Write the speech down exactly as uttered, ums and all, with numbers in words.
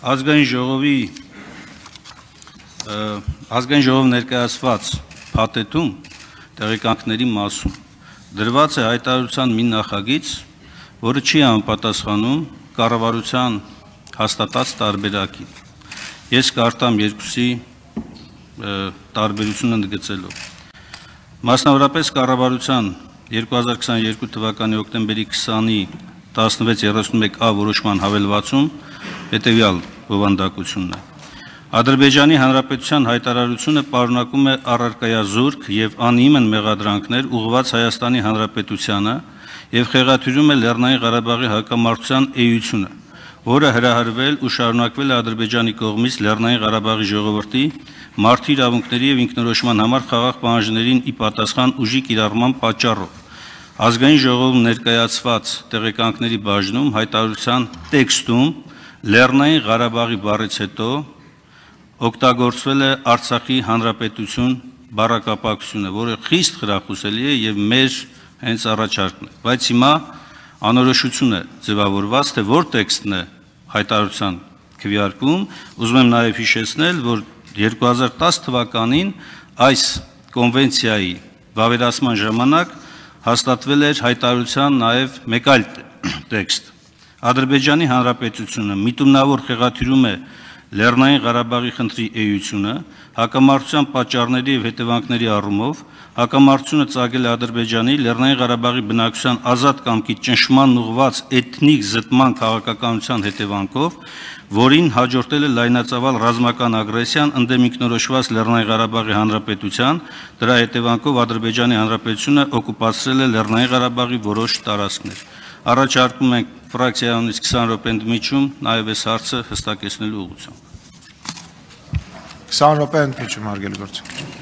Ազգային ժողովի ազգային ժողով ներկայացված փաթեթում տեղեկանքների մասում դրված է հայտարարության մի նախագիծ, որը չի համապատասխանում կառավարության հաստատած տարբերակին։ Ես կարդամ երկուսի տարբերությունը ընդգծելով։ Մասնավորապես կառավարության երկու հազար քսաներկու թվականի հոկտեմբերի քսանի տասնվեց երեսունմեկ ա որոշման հավելվածում հետևյալ բովանդակությունն է։ Ադրբեջանի Հանրապետության հայտարարությունը պարունակում է առարկայազուրկ եւ անհիմն մեղադրանքներ ուղղված Հայաստանի Հանրապետությանը եւ խեղաթյուրում է Լեռնային Ղարաբաղի հակամարտության էությունը, որը հրահրվել ու շարունակվել է Ադրբեջանի կողմից Լեռնային Ղարաբաղի ժողովրդի մարդու իրավունքների եւ ինքնորոշման համար խաղաղ պահանջներին ի պատասխան ուժի կիրառման պատճառով։ Ազգային ժողովում ներկայացված տեղեկանքների բաժնում հայտարարության տեքստում Լեռնային Ղարաբաղի բառից հետո օգտագործվել է Արցախի Հանրապետություն բառակապակցությունը, որը խիստ խրախուսելի է եւ մեր հենց առաջարկն է, բայց հիմա անորոշություն է ձևավորված, թե որ տեքստն է հայտարարության քվեարկում։ Ուզում եմ նաեւ հիշեցնել, որ երկու հազար տաս թվականին այս կոնվենցիայի վավերացման ժամանակ հաստատվել էր հայտարարության նաեւ մեկ այլ տեքստ։ Ադրբեջանի Հանրապետությունը միտումնավոր խեղաթյուրում է Լեռնային Ղարաբաղի խնդրի էությունը, հակամարտության պատճառների եւ հետևանքների առումով, հակամարտությունը ծագել է Ադրբեջանի Լեռնային Ղարաբաղի բնակչության ազատ կամքի ճնշման ուղղված էթնիկ զտման քաղաքականության հետևանքով, որին հաջորդել է լայնածավալ ռազմական ագրեսիան ընդդեմ ինքնորոշված Լեռնային Ղարաբաղի Հանրապետության, դրա հետևանքով Ադրբեջանի Հանրապետությունը օկուպացրել է Լեռնային Ղարաբաղի որոշ տարածքներ։ Առաջարկում ենք ֆրակցիայից քսան րոպե ընդմիջում նաև այս հարցը հստակեցնելու ուղղությամբ։ քսան րոպե ընդմիջում, հարգելի գործիք։